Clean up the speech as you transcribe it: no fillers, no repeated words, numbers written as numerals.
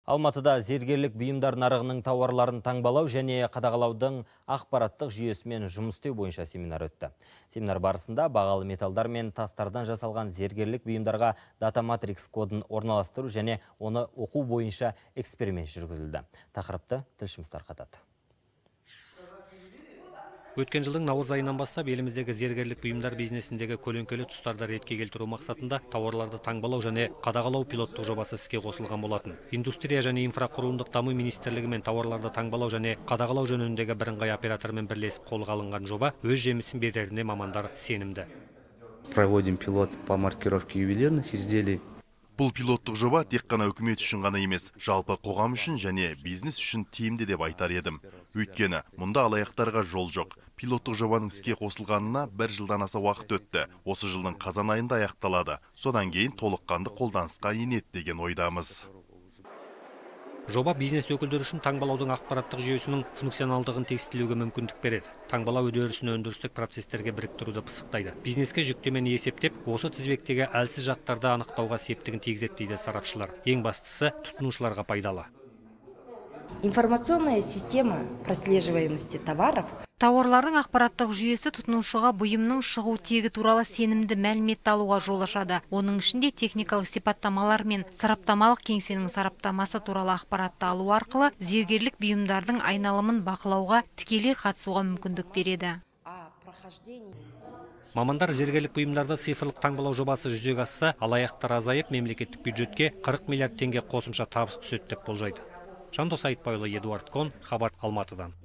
Алматыда зергерлік бұйымдар нарығының тауарларын таңбалау және қадағалаудың ақпараттық жүйесімен жұмыс істеу бойынша семинар өтті. Семинар барысында бағалы металдар мен тастардан жасалған зергерлік бұйымдарға дата матрикс кодын орналастыру және оны оқу бойынша эксперимент жүргізілді. Тақырыпты тілшіміз тарқатады. Өткен жылдың наурыз айынан бастап еліміздегі зергерлік бұйымдар бизнесіндегі көлеңкелі тұстарды ретке келтіру мақсатында тауарларды таңбалау және қадағалау пилоттық жобасы іске қосылған болатын. Индустрия және инфрақұрылымдық даму министрлігі мен тауарларды таңбалау және қадағалау жөніндегі бірыңғай оператормен бірлесіп қолға алынған жоба өз жемісін береріне мамандар сенімді. Проводим пилот по маркировке ювелирных изделий. Бұл пилоттық жоба тек қана үкімет үшін ғана емес, жалпы қоғам үшін және бизнес үшін тиімді деп айтар едім. Өйткені мұнда алаяқтарға жол жоқ. Пилоттық жобаның іске қосылғанына 1 жылдан аса уақыт өтті. Осы жылдың қазан айында аяқталады. Содан кейін толыққанды қолданысқа енеді деген ойдамыз. Жоба бизнес өкілдері үшін таңбалаудың ақпараттық жүйесінің функционалдығын тестілеуге мүмкіндік береді. Таңбалау үдерісін өндірістік процестерге біріктіруді пысықтайды. Бизнеске жүктемені есептеп, осы тізбектегі әлсіз жақтарды анықтауға септігін тигізеді дейді сарапшылар. Ең бастысы тұтынушыларға пайдалы. Информационная система прослеживаемости товаров. Тауарлардың ақпараттық жүйесі тұтынушыға бұйымның шығу тегі туралы сенімді мәлімет алуға жол ашады. Оның ішінде техникалық сипаттамалар мен сараптамалық кеңсенің сараптамасы туралы ақпаратты алу арқылы зергерлік бұйымдардың айналымын бақылауға тікелей қатысуға мүмкіндік береді. Мамандар зергерлік бұйымдарды цифрлық таңбалау жобасы жүзеге асса, алаяқтар азайып, мемлекеттік бюджетке 40 миллиард теңге қосымша табыс түседі деп болжайды. Жандос Айтбайұлы, Эдуард Кон, хабар Алматыдан.